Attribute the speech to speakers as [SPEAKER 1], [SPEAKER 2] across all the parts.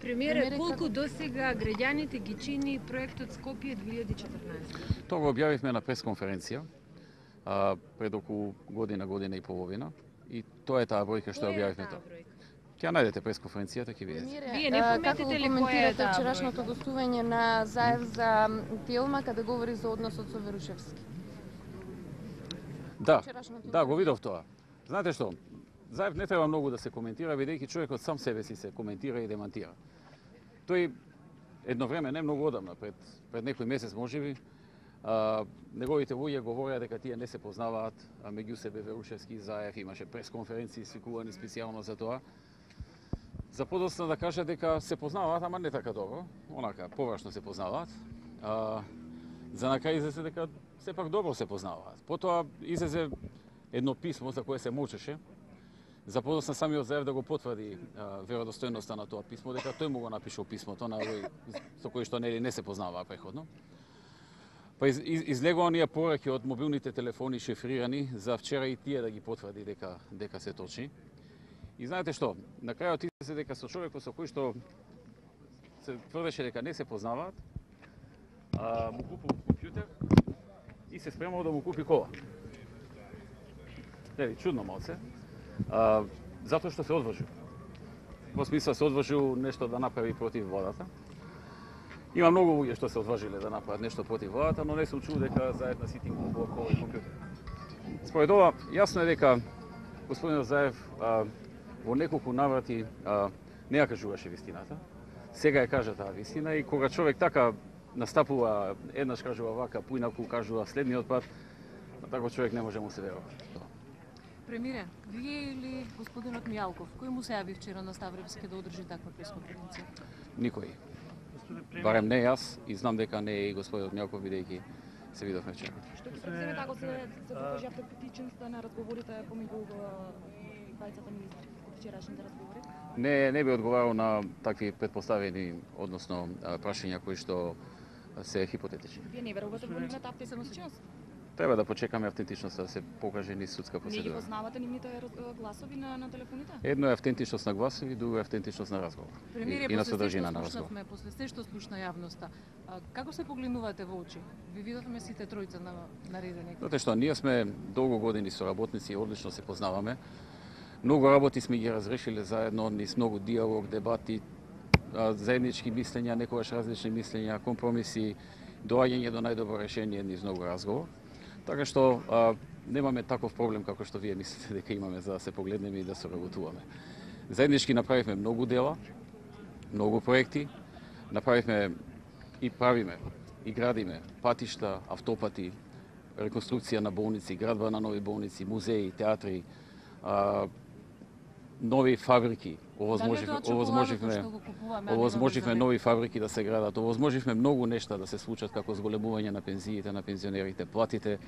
[SPEAKER 1] Премиере, колку досега граѓаните ги чини проектот Скопје 2014?
[SPEAKER 2] Тоа го објавивме на пресконференција пред околу година и половина и тоа е таа бројка што објавивме тоа. Ќе најдете пресконференцијата, ќе видите.
[SPEAKER 1] Вие не пометите ли која е таа
[SPEAKER 3] вчерашното гостување на Заев за филма каде говори за односот со Верушевски?
[SPEAKER 2] Да, го видов тоа. Знаете што? Заев не треба многу да се коментира, бидејќи човекот сам себе си се коментира и демантира. Тој едно време, не многу одамна, пред некој месец можеби, неговите луѓе говореа дека тие не се познаваат, а меѓу себе Верушевски и Заев имаше пресконференции свикувани специјално за тоа. За подоцна да кажа дека се познаваат, ама не така добро, онака површно се познаваат. За на крај излезе дека сепак добро се познаваат. Потоа излезе едно писмо за кое се молчеше. За подоцна самиот Заев да го потврди веродостојноста на тоа писмо, дека тој му го напишал писмото на овој со кој што не се познаваа преходно. Па излегува оние пораки од мобилните телефони шифрирани за вчера и тие да ги потврди дека се точни. И знаете што, на крајот излезе дека со човекот со кој што се тврдеше дека не се познаваат, му купил компјутер и се спремал да му купи кола. Нели, чудно малце. Затоа што се одважил. Во смисла се одважил нешто да направи против владата. Има многу луѓе што се одважиле да направат нешто против владата, но не сум чул дека заедно сите им купува кола и компјутер. Според ова, јасно е дека господинот Заев во неколку наврати не ја кажуваше вистината. Сега ја кажа таа вистина и кога човек така настапува, еднаш кажува вака, поинаку кажува следниот пат, на таков човек не може му се верува.
[SPEAKER 4] Премиере, вие или господинот Мијалков, кој му се јави вчера на Ставревски да одржи таква пресконференција?
[SPEAKER 2] Никој. Барем не јас и знам дека не е и господинот Мијалков, бидејќи се видовме вчера.
[SPEAKER 5] Што ќе се преземе ако се покажи автокритичноста на разговорите помеѓу двајцата министри од вчерашните разговори?
[SPEAKER 2] Не би одговарал на такви предпоставени, односно прашања кои што се хипотетични.
[SPEAKER 5] Вие не верувате во нивната автентичност?
[SPEAKER 2] Треба да почекаме автентичноста да се покаже низ судска процедура.
[SPEAKER 5] Не ги познавате нивните гласови на телефоните?
[SPEAKER 2] Едно е автентичност на гласови, друго е автентичност на разговор. И на содржина на разговор.
[SPEAKER 4] После се што слушна јавноста, како се погледнувате во очи? Ви видовме сите тројца на наредени.
[SPEAKER 2] Затоа што ние сме долго години соработници и одлично се познаваме. Многу работи сме ги разрешиле заедно, низ многу диалог, дебати, заеднички мислења, некогаш различни мислења, компромиси, доаѓање до најдобро решение низ многу разговор. Така што немаме таков проблем како што вие мислите дека имаме за да се погледнеме и да соработуваме. Заеднички направивме многу дела, многу проекти, направивме и правиме и градиме патишта, автопати, реконструкција на болници, градба на нови болници, музеи, театри, нови фабрики. Овозможивме нови фабрики да се градат, овозможивме многу нешта да се случат како зголемување на пензиите на пензионерите, платите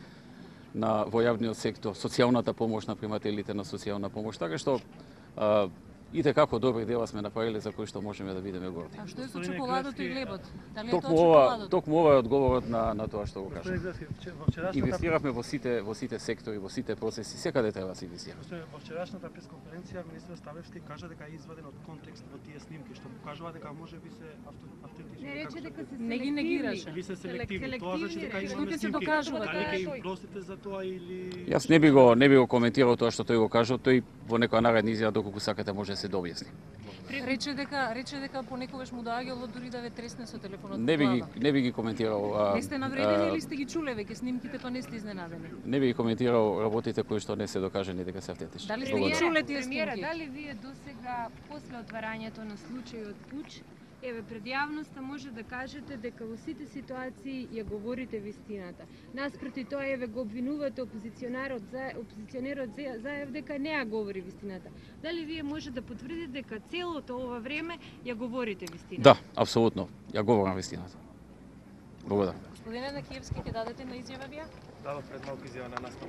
[SPEAKER 2] во јавниот сектор, социјалната помош на примателите на социјална помош, така што и како добри дела сме направиле за кои што можеме да бидеме горди.
[SPEAKER 4] А што е со чоколадото и лебот? Дали е тоа чоколадот?
[SPEAKER 2] Токму ова е одговорот на тоа што го кажа. Инвестиравме во сите сектори, во сите процеси, секаде треба да се инвестира.
[SPEAKER 6] Во вчерашната пресконференција министерот Ставревски кажа дека е изваден од контекст во тие снимки, што покажува дека можеби се автентични.
[SPEAKER 1] Не рече дека се
[SPEAKER 4] не ги негираше.
[SPEAKER 6] Ви се селективни. Тоа значи дека имаме
[SPEAKER 4] се
[SPEAKER 6] снимки.
[SPEAKER 4] докажува
[SPEAKER 6] Дали ќе им простите за тоа или
[SPEAKER 2] Јас не би го коментирал тоа што тој го кажа, тој во некоја наредна изјава доколку сакате може да се дообјасни.
[SPEAKER 4] Рече дека понекогаш му доаѓало дури да ве тресне со телефонот.
[SPEAKER 2] Не би ги коментирал.
[SPEAKER 4] Не сте навредени или сте ги чуле веќе снимките, па не сте изненадени?
[SPEAKER 2] Не би ги коментирал работите кои што не се докажани дека се автентични.
[SPEAKER 4] Дали сте ги чуле тие
[SPEAKER 1] Премиера,
[SPEAKER 4] снимки?
[SPEAKER 1] дали вие досега после отварањето на случајот Пуч, пред јавноста може да кажете дека во сите ситуации ја говорите вистината. Наспроти тоа го обвинувате опозиционерот Заев дека не ја говори вистината. Дали вие може да потврдите дека целото ова време ја говорите вистината?
[SPEAKER 2] Да, апсолутно. Ја говорам вистината. Благодарам.
[SPEAKER 4] Господине Накиевски, ќе дадете на изјава вие?
[SPEAKER 6] дадов пред малку изјава на нас на